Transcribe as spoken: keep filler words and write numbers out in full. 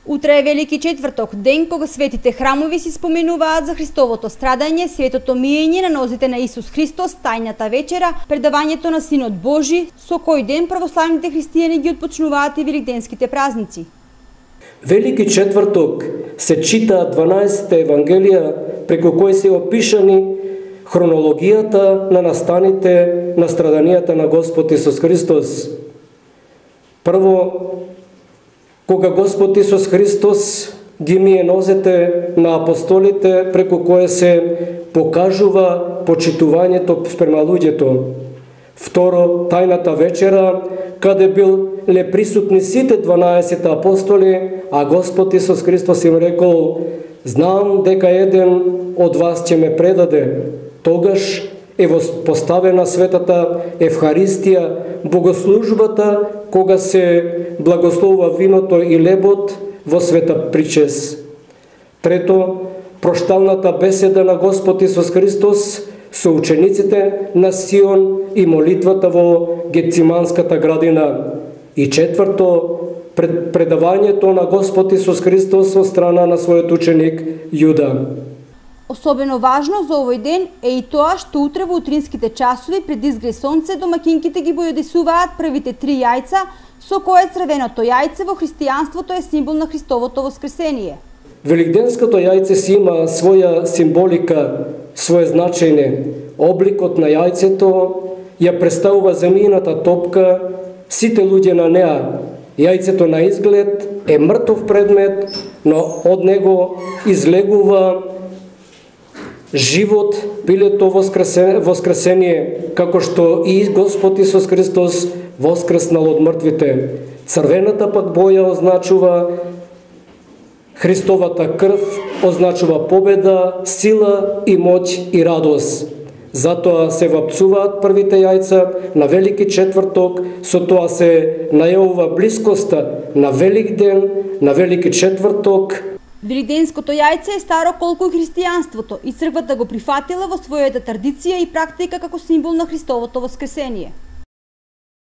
Утре е Велики четврток, ден кога светите храмови си споменуваат за Христовото страдање, светото миење на нозите на Исус Христос, тајната вечера, предавањето на Синот Божи, со кој ден православните христијани ги отпочнуваат и великденските празници. Велики четврток се чита дванаесетте евангелија, преку кои се опишани хронологијата на настаните на страданијата на Господ Исус Христос. Прво, кога Господ Исус Христос ги мие нозете на апостолите, преку кое се покажува почитувањето спрема луѓето. Второ, тајната вечера, каде бил ле присутни сите дванаесет апостоли, а Господ Исус Христос им рекол: знам дека еден од вас ќе ме предаде. Тогаш е поставена светата Евхаристија, богослужбата, кога се благословува виното и лебот во света причес. Трето, прошталната беседа на Господ Исус Христос со учениците на Сион и молитвата во Гециманската градина. И четврто, пред предавањето на Господ Исус Христос од страна на својот ученик Јуда. Особено важно за овој ден е и тоа што утре во утринските часови пред изгре сонце домакинките ги бојодисуваат првите три јајца, со кое црвеното јајце во христијанството е символ на Христовото воскресение. Великденското јајце си има своја символика, свое значење. Обликот на јајцето ја представува земјината топка, сите луѓе на неа. Јајцето на изглед е мртов предмет, но од него излегува живот, билето воскресение, воскресение, како што и Господ Исус Христос воскреснал од мртвите. Црвената пак боја означува Христовата крв, означува победа, сила и моќ и радост. Затоа се вапцуваат првите јајца на Велики четврток, со тоа се најавува блискоста на Велик ден, на Велики четврток. Великденското јајце е старо колку и христијанството и црквата го прифатила во својата традиција и практика како символ на Христовото воскресение.